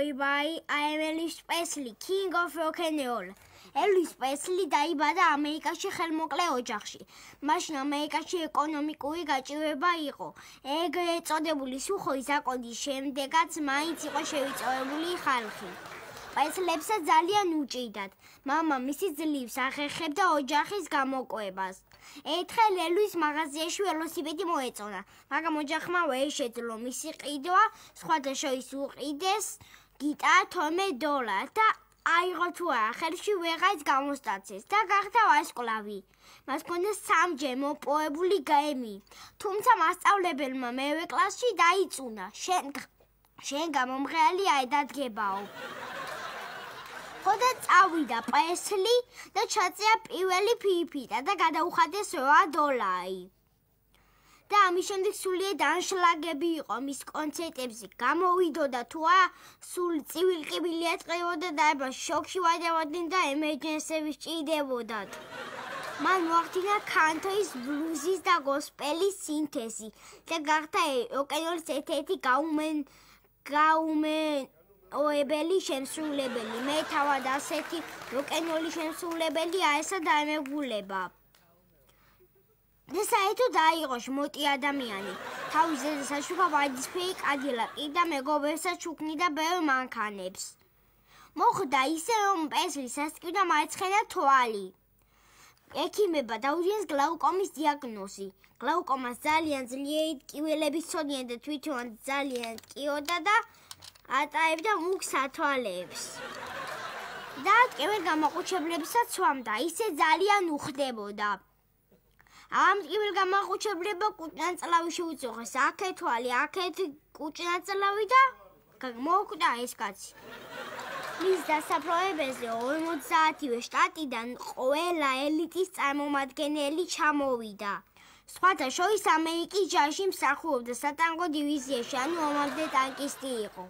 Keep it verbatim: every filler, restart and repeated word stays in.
boy by I am Elvis Presley, king of rock and roll. Elvis Presley დაიბადა ამერიკაში ხელმოკლე ოჯახში. მაშინ ამერიკაში ეკონომიკური გაჭირვება იყო. ეგრეთ წოდებული სუხოი ზაკონის შემდეგაც მაინც იყო შევიწროებული ხალხი. პრესლებსაც ძალიან უჭირდათ. მამა მისი ძლივს ახერხებდა ოჯახის გამოკვლევას. ერთხელ ელვის მაღაზიაში ველოსიპედი მოეწონა, მაგრამ ოჯახმა ვერ შეძლო მისი ყიდვა, სხვათა შორის უყიდეს გიტარა თორმეტ დოლარს და აიღო თუ არა, ხელში ვეღარც გამოსტაცეს და გახდა ვარსკვლავი. მას ჰქონდა სამჯერ მოპოვებული გრემი, თუმცა მასწავლებელმა მერვე კლასში დაიწუნა. შენ შენ გამომღერალი არ დადგებაო. ხოდა წავიდა პრესლი და ჩაწერა პირველი ფირფიტა და გადაუხადეს რვა დოლარი. და ამის შემდეგ სულიერ ანშლაგები იყო მის კონცერტებზე. გამოვიდოდა თუ არა, სულ წივილყივილი ატყევოდა და ება შოქში ვადევოდნენ და ემერჯენსები სჭირდებოდათ. მან მოახდინა კანტრის, ბლუზის და გოსპელის სინთეზი და გახდა როკ-ენ-როლის ერთ-ერთი გაუმენ გაუმენ ოებელი შემსრულებელი. მე თავად ასეთი როკ-ენ-როლის შემსრულებელი არასა დაემეგულება. და საერთოდ აიღო მოტი ადამიანი. თავის ზეზე საშუქა ვარდისფერი კადილაკი და მეგობრებსაც უქმნიდა ბევრ მანქანებს. მოხდა ისე, რომ პრესლის ასწყვიტა მარცხენა თვალი. ექიმებმა დაუდგინეს გლაუკომის დიაგნოზი. გლაუკომას ძალიან ძლიერი ტკივილები ჰქონია და თვითონ ძალიან ტკიოდა და ატარებდა მუქ სათვალეებს. და ტკივილ გამოყუჩებლებსაც სვამდა, ისე ძალიან უხდებოდა. ამ ტკივილ გამოყუჩებლებმა კუჭნაწლავი შეუწუხეს, აქეთ თვალი, აქეთ კუჭნაწლავი და მოკვდა ეს კაცი. მის დასაფლავებაზე ორმოცდაათივე შტატიდან ყველა ელიტის წარმომადგენელი ჩამოვიდა. სხვათა შორის ამერიკის ჯარში მსახურობდა სატანკო დივიზიაში, ანუ ომამდე ტანკისტი იყო.